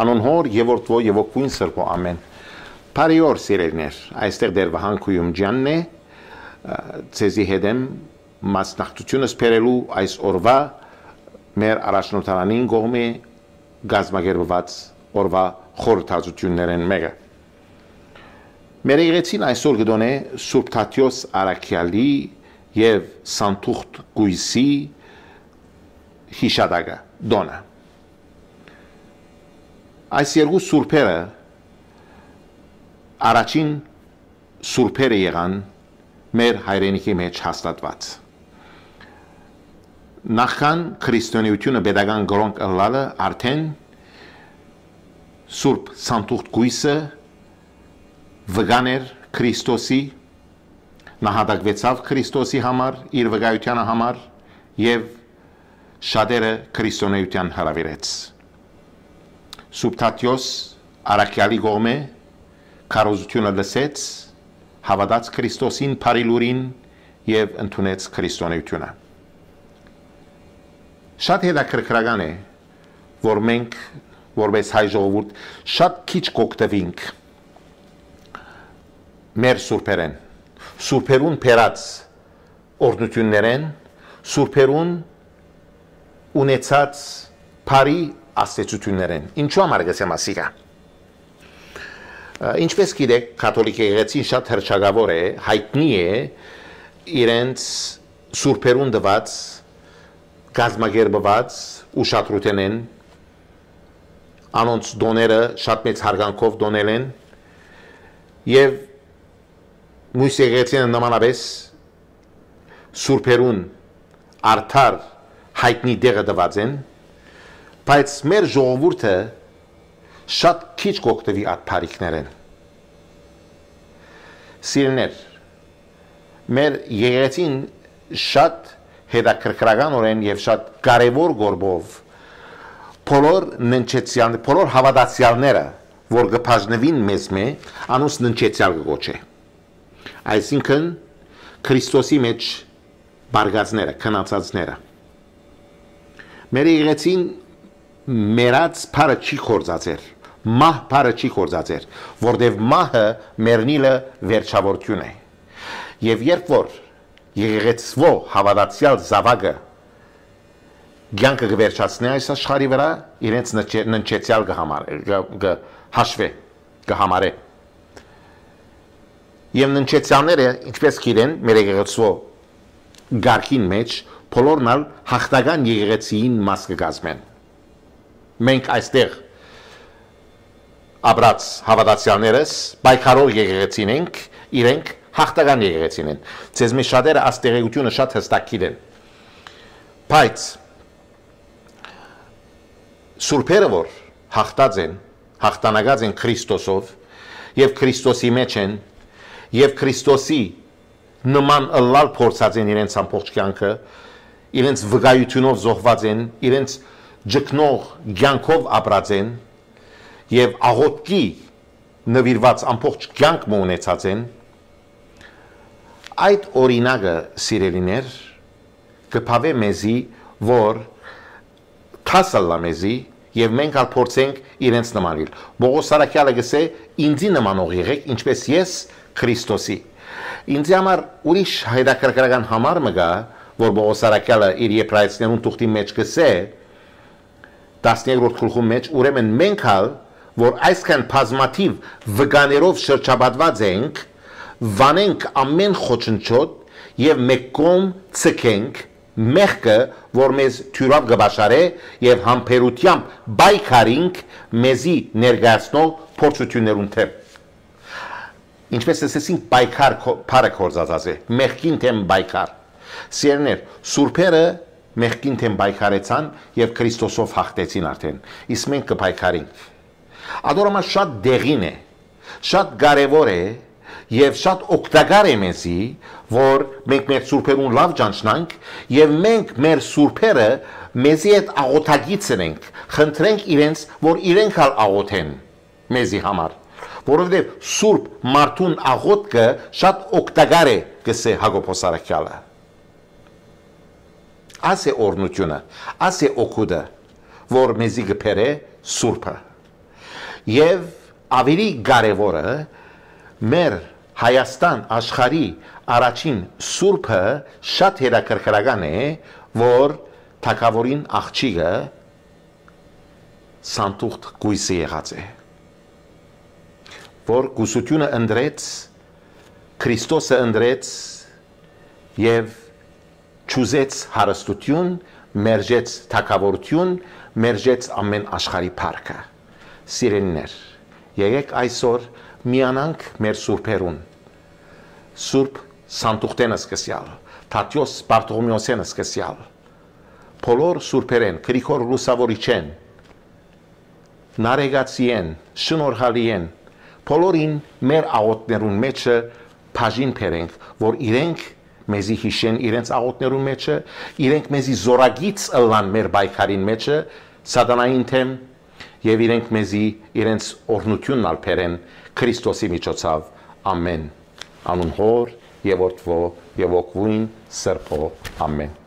Անոն հոր եւ որդվո եւ օգուն սրբո ամեն։ Բարիօր սիրելիներ, այստեղ դեր վահանքույում ջանն է, ցեզի հետեմ մասնակցությունս բերելու այս օրվա մեր առաջնորդարանին կողմի գազմագերբված օրվա խորհրդածություններն մեկը։ Մեր եկեղեցին այսօր կդոնե Սուրբ Թադեոս Արաքյալի եւ Սանթուղթ Գույսի հիշադակը դոնը։ Այս երկու սուրբերը առաջին սուրբերը եղան մեր հայրենիքի մեջ հաստատված։ Նախքան քրիստոնեությունը pedagogan գրոնք ըլլալը արդեն Սուրբ Սանթուղթ Գույսը վգաներ Քրիստոսի նահատակվեցավ Քրիստոսի համար, իր վկայության համար եւ շատերը քրիստոնեության հրավիրեց։ Սուրբ Թադեոս Արաքյալի կողմէ քարոզությունը լսեց, հավատաց Քրիստոսին բարիլուրին եւ ընդունեց քրիստոնեությունը։ Շատ հետաքրքրական է, որ մենք որպես հայ ժողովուրդ շատ քիչ կօգտվենք մեր սուրբերեն, սուրբերուն փերած օրդություններեն, սուրբերուն ունեցած բարի աստեցություններեն։ Ինչու համար գսեմ ասիկա։ Ինչպես գիտեք, կաթոլիկ եկեղեցին շատ հռչակավոր է, հայտնի է իրենց սուրբերուն դված, գազմագերբված ուշադրութենեն, անոնց դոները շատ մեծ հարգանքով դոնել են եւ մույս եկեղեցին նմանապես սուրբերուն արդար հայտնի դեղը դված են, բայց մեր ժողովուրդը շատ քիչ կօգտվի այդ բարիքներեն։ Սիրելիներ, մեր եկեղեցին շատ հետաքրքրականորեն եւ շատ կարեւոր գործով բոլոր հավատացյալները, որ կբաժնվին մեզ մե, անոնց ննչեցյալ կգոչե։ Այսինքն Քրիստոսի մեջ բարգածները, քնածածները։ Մեր եկեղեցին մերած բարը չի կործածեր, մահ բարը չի կործածեր, որտեվ մահը մեռնիլը վերջավորություն է։ Եվ երբ որ եկեղեցվո հավատացյալ զավակը կյանքը կվերջացնի այս աշխարհի վրա, իրենց ննչեցյալ կհամարե։ Եվ ննչեցյալները, ինչպես գիտեն, մեր եկեղեցվո գարքին մեջ բոլորն ալ հաղթական եկեղեցիին մաս կգազմեն։ Մենք այստեղ ապրած հավատացյալներս պայքարող եկեղեցին ենք, իրենք հաղթական եկեղեցին են։ Ձեզ մի շատերը աստեղեցությունը շատ հստակ գիտեն։ Բայց սուրբերը որ հաղթած են, հաղթանակած են Քրիստոսով եւ Քրիստոսի մեջ են եւ Քրիստոսի նման ըլլալ փորձած են իրենց ամբողջ կյանքը, իրենց վկայությունով զոհված են, իրենց ջկնող կյանքով ապրած են եւ աղոթքի նվիրված ամբողջ կյանք ունեցած են, այդ օրինակը սիրելիներ կփավե մեզի, որ թասալա մեզի եւ մենք ալ փորձենք իրենց նմանիլ։ Պողոս Արաքյալը գսե ինձի նմանող եղեք, ինչպես ես Քրիստոսի։ Ինձ համար ուրիշ հետաքրքրական համար մգա, որ Պողոս Արաքյալը իր Եբրայեցիներուն թուղթի մեջ գսե 13-րդ գլխում մեջ, ուրեմն մենք ալ, որ այսքան բազմաթիվ վկաներով շրջապատված ենք, վանենք ամեն խոչընդոտ եւ մեկ կողմ ցկենք մեղքը, որ մեզ թյուրավ կբաշարե եւ համբերությամբ բայկարինք մեզի ներկայացնող փորձություններուն թեմ։ Ինչպես ասեցինք, բայկար բարը կորզած է, մեղքին թեմ բայկար։ Սիրելիներ, սուրբերը մեղքին թեմ բայկարեցան եւ Քրիստոսով հաղթեցին արդեն։ Իսկ մենք կբայկարինք։ Ադորամա շատ դեղին է, շատ կարեւոր է եւ շատ օգտակար է մեզի, որ մենք մեր սուրբերուն լավ ճանչնանք եւ մենք մեր սուրբերը մեզի հետ աղոթագից ենք, խնդրենք իրենց, որ իրենք ալ աղոթեն մեզի համար, որովհետեւ սուրբ մարդուն աղոթքը շատ օգտակար է, գսե Հակոբոս Արաքյալը։ Աս է օրնությունը, աս է օգուտը, որ մեզի գբերե սուրբը։ Եվ ավելի կարևորը մեր Հայաստան աշխարհի առաջին սուրբը շատ հետաքրքրական է, որ թագավորին աղջիկը սանտուղտ գույսը եղած է, որ գուսությունը ընդրեց, Քրիստոսը ընդրեց եւ ճուզեց հարստություն, մերժեց թագավորություն, մերժեց ամեն աշխարհի փառքը։ Սիրելիներ, եկեք այսօր միանանք մեր սուրբերուն, Սուրբ Սանտուղտենը սկսյալ, Թատյոս Բարտողոմեոսենը սկսյալ, բոլոր սուրբերեն, Գրիգոր Լուսավորիչեն, Նարեգացիեն, Շնորհալիեն, բոլորին մեր աղոթներուն մեջը բաժին բերենք, որ իրենք մեզի հիշեն իրենց աղոթներուն մեջը, իրենք մեզի զորագից ըլլան մեր բայկարին մեջը, սատանային թեմ, եւ իրենք մեզի իրենց օրհնությունն ալ բերեն Քրիստոսի միջոցով, ամեն, անուն Հոր եւ Որդվո եւ Ոգուին Սրբո, ամեն։